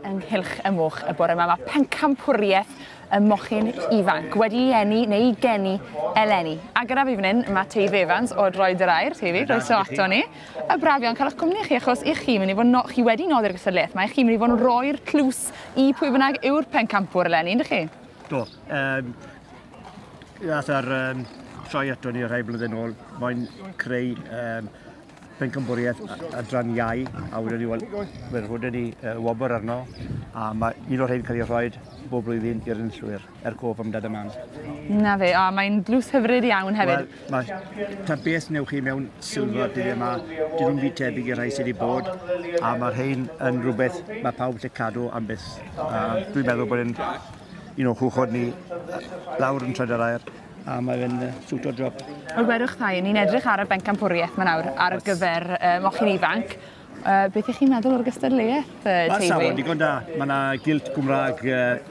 Ynghylch y moch y bore yma, mae pencampwriaeth y mochyn ifanc wedi ei eni neu ei geni eleni. A gyda fi fan hyn, mae Teifi Evans o Droed yr Aur. Teifi, croeso ato ni. A braf iawn cael eich cwmni chi, achos i chi mynd i fod no, chi wedi noddi'r gystadleuaeth, mae chi mynd i fod yn rhoi'r tlws i pwy bynnag yw'r pencampwr eleni, yndych chi? Do. Nath yr troi ato ni rhai blynedd nôl, moyn creu pencampwriaeth adran iau, a wedyn ni, wel, fe rhodon ni wobr arno, a mae un o'r rhain cael ei rhoi bob blwyddyn i'r enillwyr, er cof am dad a mam. Na fe, a mae'n dlws hyfryd iawn hefyd. Wel, mae, ta beth newch chi mewn silver dyddiau yma, dyn nhw'n fyd tebyg i'r rhai sydd wedi bod, a mae'r rhain yn rhywbeth mae pawb lle cadw am byth. A dwi'n meddwl bod yn un o'n chwchod ni lawr yn Troed yr Aur, a mae fe'n siwto job. Wel, gwedwch thai, ni'n edrych ar y bencampwriaeth ma nawr ar gyfer mochyn ifanc. Beth ych chi'n meddwl o'r gystadleuaeth, Mae'r Teifi? safon digon da. Mae yna gilt Gymraeg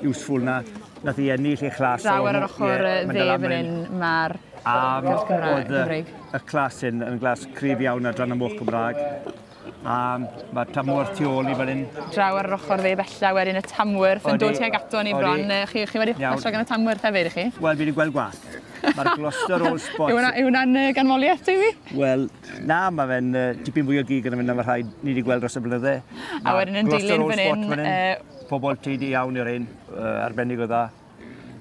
useful na. Nath i ennill ei chlas. Draw ar yr ochr Ie, dde fan hyn mae'r gilt Gymraeg. Oedd y clas hyn yn glas cryf iawn ar dran y moch Gymraeg. A mae Tamworth tu ôl i fan hyn. Draw ar yr ochr dde bella wedyn y Tamworth yn dod tuag ato ni bron. Chi wedi plesio gan y Tamworth hefyd, i chi? Wel, fi wedi gweld gwath. Mae'r Gloucester Old Spot... Yw hwnna'n ganmoliaeth, Teifi? Wel, na, mae fe'n tipyn fwy o gig yn mynd am y rhai ni wedi gweld dros y blynydde. A wedyn yn dilyn fan hyn... Pobl teidi iawn i'r un, arbennig o dda.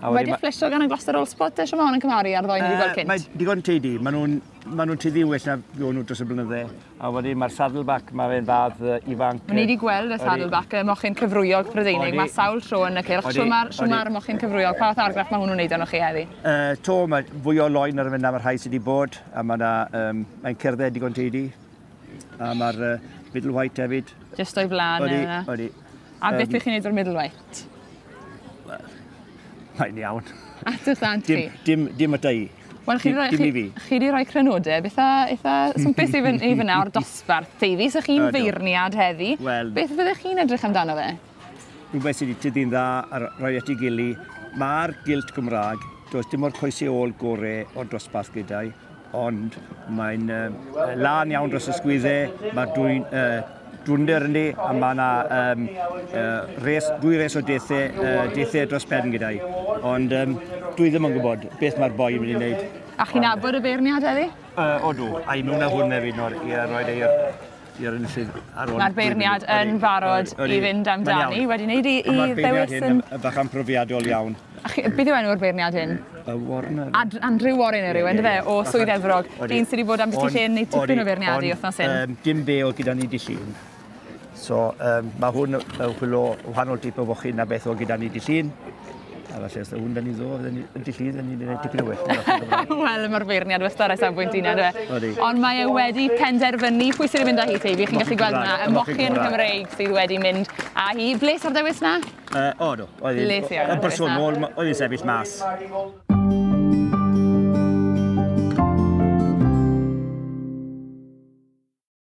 Wedi fflesio gan y Gloucester Old Spot, eisiau mae hwn yn cymharu ar ddoi ni wedi gweld cynt? Mae digon teidi. Maen nhw'n tueddu well na fuon nhw dros y blynydde. A wedyn mae'r Saddleback, mae fe'n fadd ifanc. Ni wedi gweld y Saddleback, y mochyn cyfrwyog Prydeinig. Mae sawl tro yn y cylch. Shw mae'r mochyn cyfrwyog, pa fath argraff mae hwnnw'n wneud arnoch chi heddi? To, mae fwy o loen ar y fynd am y rhai sydd wedi bod. A mae'n cerdded digon teidi. A mae'r Middle White hefyd. Jyst o'i flaen yna. Odi. A beth ych chi'n neud o'r Middle White? Mae'n iawn. At y llant chi? Dim ata i. Wel, chi wedi rhoi crynodeb eitha swmpus i fyna o'r dosbarth, Teifi. So chi'n feirniad heddi. Beth fyddech chi'n edrych amdano fe? Rhywbeth sydd wedi tyfu'n dda a rhoi at ei gili. Mae'r gilt Gymraeg, does dim o'r coesau ôl gore o'r dosbarth gyda'i, ond mae'n lan iawn dros y sgwyddau, mae'r dwnder yndi, a mae yna dwy res o deithau dros pen gyda'i. Ond dwi ddim yn gwybod beth mae'r boi yn mynd i wneud. A chi'n nabod y beirniad heddi? Odw, a i mewn â hwn hefyd nawr i roed i'r enillydd ar ôl. Mae'r beirniad yn barod i fynd amdani, wedi wneud i ddewis yn... Mae'r beirniad hyn yn bach profiadol iawn. Beth yw enw'r beirniad hyn? Warner. Andrew Warner yw, yndyfe, o Swydd Efrog. Dyn sydd wedi bod am byti lle yn neud tipyn o feirniadu wythnos hyn. Dim fe oedd gyda ni dy Llun. So, mae hwn yn chwilio wahanol tip o fochyn na beth oedd gyda ni dy Llun. A falle os hwn da ni ddo, yn dy Llun, ni'n gwneud tipyn o well. Wel, mae'r beirniad wastad ar safbwynt un, yndyfe. Ond mae e wedi penderfynu pwy sydd wedi mynd â hi, Teifi. Chi'n gallu gweld yna, y mochyn Cymreig sydd wedi mynd â hi. Bles o'r dewis na? O, do. Yn bersonol, oedd hi'n sefyll mas.